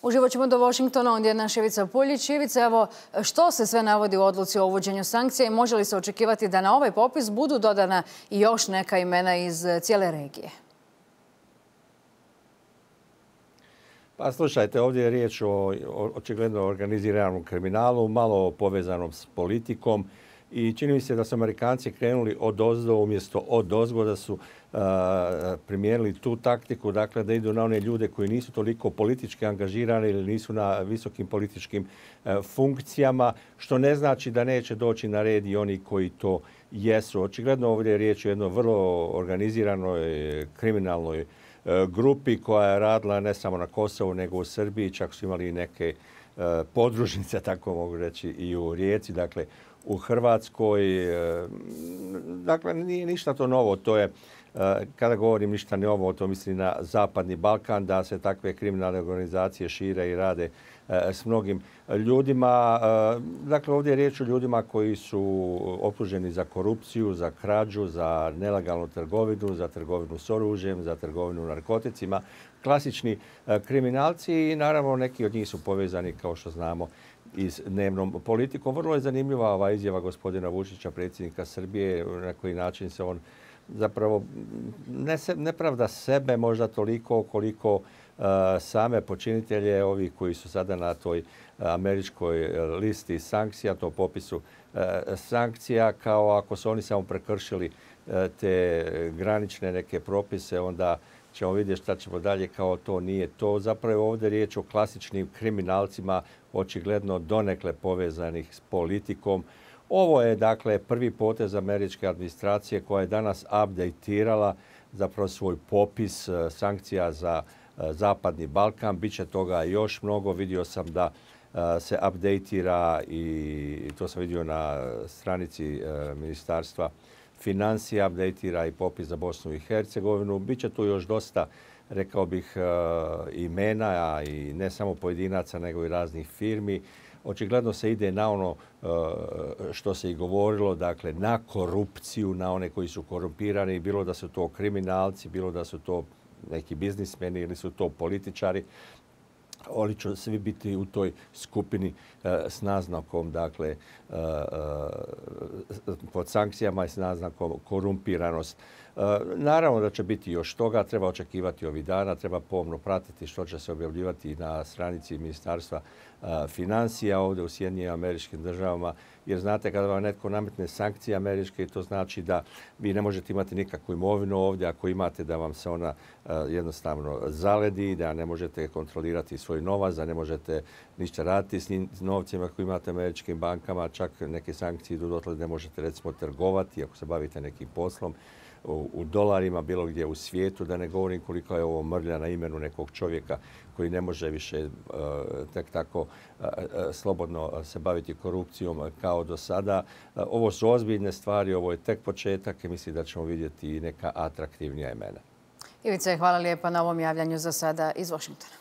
Uživo ćemo do Washingtona, ondje je naš Ivica Puljić. Ivica, evo, što se sve navodi u odluci o uvođenju sankcija i može li se očekivati da na ovaj popis budu dodana i još neka imena iz cijele regije? Pa slušajte, ovdje je riječ o očigledno organiziranom kriminalu, malo povezanom s politikom i čini mi se da su Amerikanci krenuli odozdo umjesto odozgo, da su primijenili tu taktiku, dakle da idu na one ljude koji nisu toliko politički angažirani ili nisu na visokim političkim funkcijama, što ne znači da neće doći na red i oni koji to jesu. Očigledno ovdje je riječ o jednoj vrlo organiziranoj kriminalnoj grupi koja je radila ne samo na Kosovu nego u Srbiji, čak su imali i neke podružnice, tako mogu reći, i u Rijeci, dakle u Hrvatskoj. Dakle, nije ništa to novo, to je, kada govorim ništa novo, to mislim na Zapadni Balkan, da se takve kriminalne organizacije šire i rade s mnogim ljudima. Dakle, ovdje je riječ o ljudima koji su optuženi za korupciju, za krađu, za nelegalnu trgovinu, za trgovinu s oružjem, za trgovinu narkoticima. Klasični kriminalci i naravno neki od njih su povezani, kao što znamo, i s dnevnom politikom. Vrlo je zanimljiva ova izjava gospodina Vučića, predsjednika Srbije, na koji način se on zapravo ne pravda sebe možda toliko koliko same počinitelje, ovi koji su sada na toj američkoj listi sankcija, to popisu sankcija, kao ako su oni samo prekršili te granične neke propise, onda ćemo vidjeti šta ćemo dalje, kao to nije to. Zapravo je ovdje riječ o klasičnim kriminalcima, očigledno donekle povezanih s politikom. Ovo je dakle prvi potez američke administracije koja je danas updateirala zapravo svoj popis sankcija za Zapadni Balkan. Biće toga još mnogo. Vidio sam da se updateira i to sam vidio na stranici Ministarstva financija, updateira i popis za Bosnu i Hercegovinu. Biće tu još dosta, rekao bih, imena i ne samo pojedinaca nego i raznih firmi. Očigledno se ide na ono što se i govorilo, dakle na korupciju, na one koji su korumpirani, bilo da su to kriminalci, bilo da su to neki biznismeni ili su to političari. Oni će svi biti u toj skupini s naznakom, dakle, pod sankcijama i s naznakom korumpiranost. Naravno da će biti još toga, treba očekivati ovih dana, treba pomno pratiti što će se objavljivati na stranici Ministarstva financija ovdje u Sjedinjenim Američkim Državama, jer znate kada vam netko nametne sankcije američke, to znači da vi ne možete imati nikakvu imovinu ovdje, ako imate da vam se ona jednostavno zaledi, da ne možete kontrolirati svoj novac, da ne možete ništa raditi s novcima koji imate u američkim bankama, čak neke sankcije idu dotle da ne možete recimo trgovati ako se bavite nekim poslom u dolarima bilo gdje u svijetu, da ne govorim koliko je ovo mrlja na imenu nekog čovjeka koji ne može više tek tako slobodno se baviti korupcijom kao do sada. Ovo su ozbiljne stvari, ovo je tek početak i mislim da ćemo vidjeti neka atraktivnija imena. Ivice, hvala lijepa na ovom javljanju za sada iz Washingtona.